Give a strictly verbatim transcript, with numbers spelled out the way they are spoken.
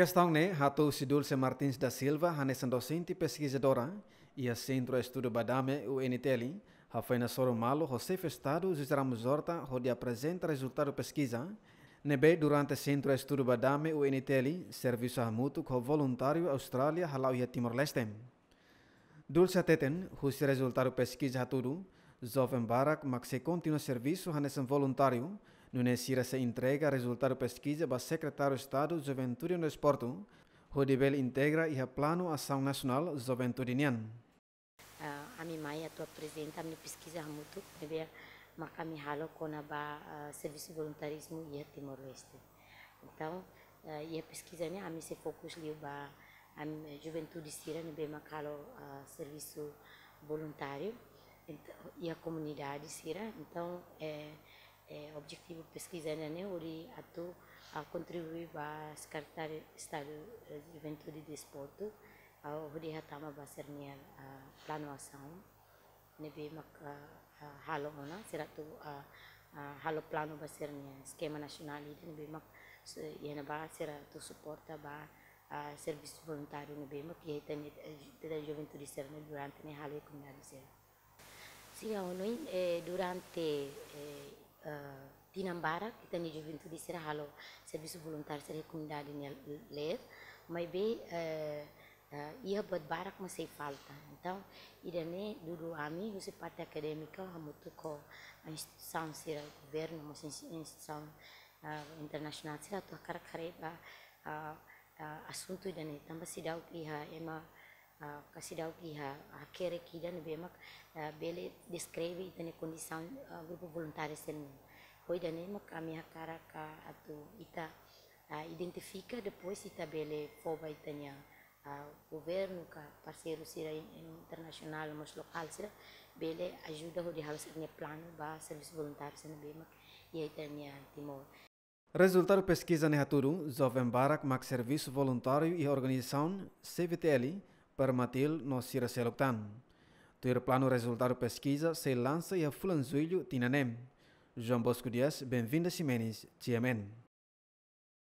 Kestaun ne'e hato'o husi Dulce Martins da Silva, hanesan dosente peskizadora iha Sentru Estudu Badame, U N T L, hafoin hasoru malu ho Xefe Estadu José Ramos Horta hodi aprezenta rezultadu peskiza ne'ebé durante Sentru Estudu Badame, U N T L, servisu hamutuk ho voluntáriu Austrália hala'o iha Timor-Leste. Dulce hateten, husi rezultadu peskiza hatudu, joven barak mak sei kontinua servisu hanesan voluntáriu, nune'e sira sei entrega rezultadu peskiza ba Sekretáriu Estadu Juventude no Desportu, hodi bele integra iha Planu Asaun Nasionál Juventude nian. Ah, ami mai atu aprezenta ami-nia peskiza hamutuk, ne'ebé mak ami halo kona-ba, ah, servisu voluntarizmu iha Timor-Leste. Entaun, eh, iha peskiza ne'e ami sei fokus liu ba ami, eh, juventude sira ne'ebé mak halo, ah, servisu voluntáriu, ent-, iha komunidade sira. Entaun, eh, eh, objetivu peskiza ne'e hodi atu, ah, kontribui ba Sekretáriu Estadu, eh, Juventude e Desportu, ah, hodi hatama ba sira-nia, ah, planu asaun ne'ebé mak, ah, ah, halo ona, sira atu, ah, ah, halo planu ba sira-nia eskema nasionál ida ne'ebé mak, se-, iha ne'ebá sira atu suporta ba, ah, servisu voluntáriu ne'ebé mak iha ita-nia, eh, ita-nia juventude sira-ne'e durante ne'e halo iha komunidade sira. Sira hanoin, eh, durante, eh, eh, tinan barak, ita-nia juventude sira halo servisu voluntáriu sira iha komunidade nia leet, maibé, eh, eh, iha buat barak mak sei falta. Entaun, ida-ne'e dudu ami husi parte akadémika hamutuk ho instituisaun sira governu, mós ins-, instituisaun, ah, internasionál sira atu hakarak haree ba, ah, ah, asuntu ida-ne'e tanba seidauk iha ema, ah, ka seidauk iha hakerek ida ne'ebé mak, ah, bele deskreve ita-nia kondisaun, ah, grupu voluntáriu sira-nian. Ho ida-ne'e mak ami hakarak atu ita, ah, identifika, depois ita bele fó ba ita-nia, ah, governu ka parseiru sira in-, internasionál mós lokál sira bele ajuda hodi halo sira-nia planu ba servisu voluntáriu sira ne'ebé mak iha ita-nia Timor. Rezultadu peskiza ne'e hatudu, joven barak mak servisu voluntáriu iha organizasaun C V T L, Permatil no sira seluk tan. Tuir planu rezultadu peskiza sei lansa iha fulan Jullu tinan ne'e. João Bosco Dias, Benvinda Ximenes, G M N.